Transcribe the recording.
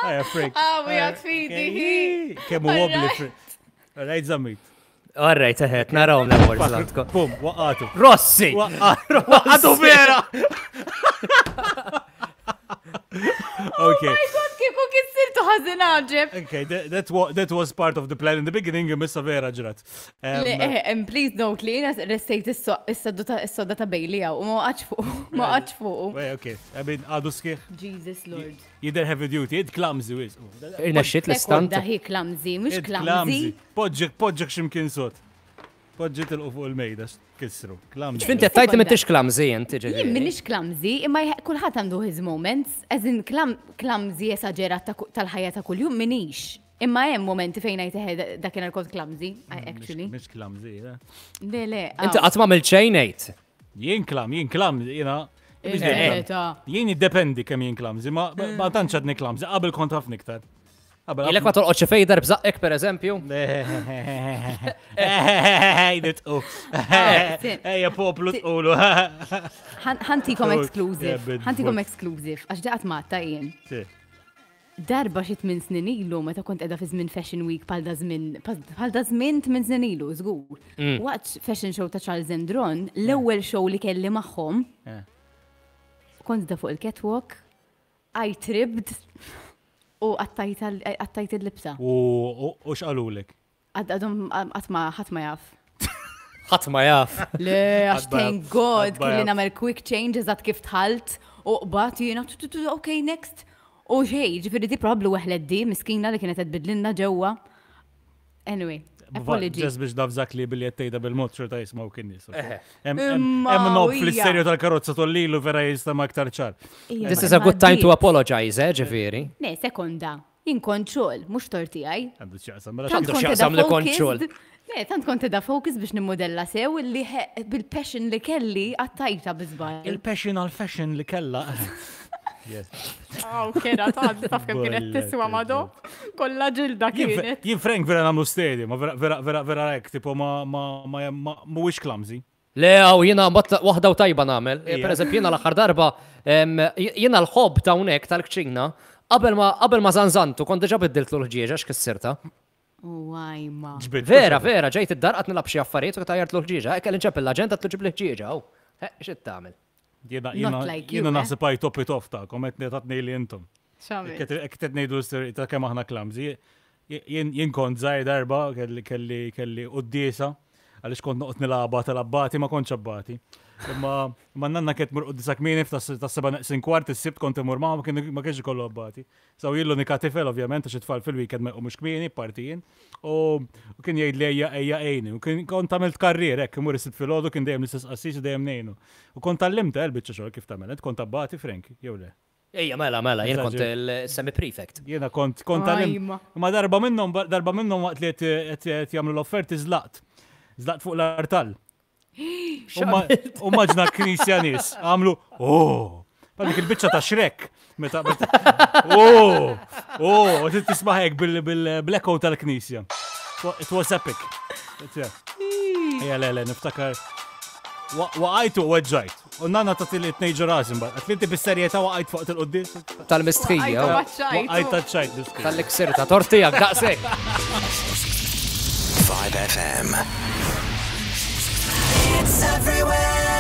Ejja, Frank. Ah, we għad fidi. Kemm hu wobbly, Frank. Right, Zammit. All right, eħet, narawhom l-awards l-għandkom. Bum, waqatu. Rossi! Waqatu vera! Okay. Oh my God, kieku kissirtu ħażin għaġeb. Okay, that, that, wa that was part of the plan in the beginning, imma vera ġrat. Um, Le, eh, and please note li jena restejt is-sodda ta' Bailey għaw, u ma waqgħatx fuq, ma waqgħatx fuq. Wait, okay, I mean, għadu sħiħ, Jesus Lord. jider heavy duty, id clumsy, wis. Irnexxiet l-istant. Sekonda hi clumsy, mhux Id clumsy. Poġġek, poġġek ximkien sot. Poġġi tilqu fuq il-mejda, kissru. Clumsy. Ġfinti għattajt li m'intix clumsy inti Jien ġifieri. minix clumsy, imma kulħadd għandu his moments, as in clumsy esaġerat tal-ħajja ta' kuljum minix. Imma hemm momenti fejn ngħid eħe dakinhar kont clumsy, I actually. Mhix clumsy, eh? Le, le. Inti qatt m'għamilt xejn ngħid. Jien klam, jien klam, jiena. Jien jiddependi kemm jien clumsy, ma ma tantx għadni clumsy, qabel kont ħafna iktar. Qabel Ilek ma tolqotx xi fejder b'żaqqek pereżempju? Nitqu. Ejja poplu tqulu. Ħantikom exclusive. Ħantikom exclusive, għax daqat matta jien. Darba xi tmien snin ilu meta kont qiegħda fi żmien Fashion Week bħal da żmien bħal da żmien tmien snin ilu, żgur. Mm. Waqt fashion show ta' Charles Endron, l-ewwel show li kelli magħhom. Eh. Kont da fuq il-catwalk, I tripped u qattajt il-libsa. U x'qalulek? Għadhom qatt ma ħadd ma jaf. Ħadd ma jaf. Le, għax thank God, kelli nagħmel quick change eżatt kif dħalt u qbad jiena ok next. U xejn, ġifieri di probabbli weħlet di miskina li kienet qed tbidlilna ġewwa. Anyway, apology. Ġest biex nafżak li billi qed tgħidha bil-mod xorta jismgħu kien nies. Hemm nob fl-isterjo tal-karozza tollilu vera jistama aktar ċar. This is a good time to apologize, eh, ġifieri. Ne, sekonda. Jien kont xogħol, mhux tort tiegħi. Għandu x'jaqsam, mela Għandu x'jaqsam li kont xogħol. Le, tant kont edha focus biex nimmodella sew li bil-passion li kelli għattajta bi żball. Il-passion għal-fashion li kella. Yes. Aw, kera ta' taf kemm kienet tiswa mado. Kollha ġilda kienet. Jien Frank vera nagħmlu stadium, ma vera vera vera vera hekk, tipo ma ma ma mhuwiex clumsy. Le, għaw, jena waħda u tajba namel. Eh, per eżempju, jena l-axar darba, jena l-ħob ta' unek tal-kċina, qabel ma qabel ma zanzantu, kont diġa biddiltlu l-ħġieġa x'kissirta. Wajma. Vera, vera, ġejt id-dar qatt nilgħab xi affarijiet u tajjartlu l-ħġieġa. Hekk kelli nċeppel l-aġent għatlu ġib l-ħġieġa, aw. X'qed tagħmel? Jiena jiena eh? naħseb I top it off ta' komet tatni li intom. Hekk qed ngħidu l-istorja ta' kemm aħna clumsy. Jien kont żgħir darba kelli kelli kelli quddiesa għaliex kont noqgħod nilgħabha tal-abbati ma kontx abbati. Imma imma nanna kienet tmur quddiesa kmieni tas-seba' neqsin kwart is-Sibt kont immur magħha ma kienx ikollu abbati. So jien l-unika tifel ovvjament għax it-tfal fil-weekend ma jqumux kmieni, parti jien. U kien jgħidli ejja ejja għinni. U kien kont għamilt karrier hekk imur is-Sibt filgħodu kien dejjem l-istess qassis u dejjem ngħinu. U kont tgħallimtha l-biċċa xogħol kif tagħmel. Int kont abbati Frank jew le? Ejja, mela, mela, jien kont il-semi-prefect. Jiena kont, kont għalim. Ma darba minnhom, darba minnhom waqt li qed jagħmlu l-offerti żlaqt. Żlaqt fuq l-artal. U maġna knisja nies għamlu, oh, Għal dik il-biċċa ta' Shrek. Meta, meta, oh, oh, tisma' hekk bil-blacko tal-knisja. It was epic. Ejja, le, le, niftakar. Waqajt u weġġajt. U nanna ta' tilli tnejġu rasi mbagħad. Qed inti bis-serjetà waqajt fuq il-quddiem. Tal-mistħija. Waqajt taċ-ċajt miskin. Tal-iksir ta' tortijak daqshekk. 5FM. It's everywhere.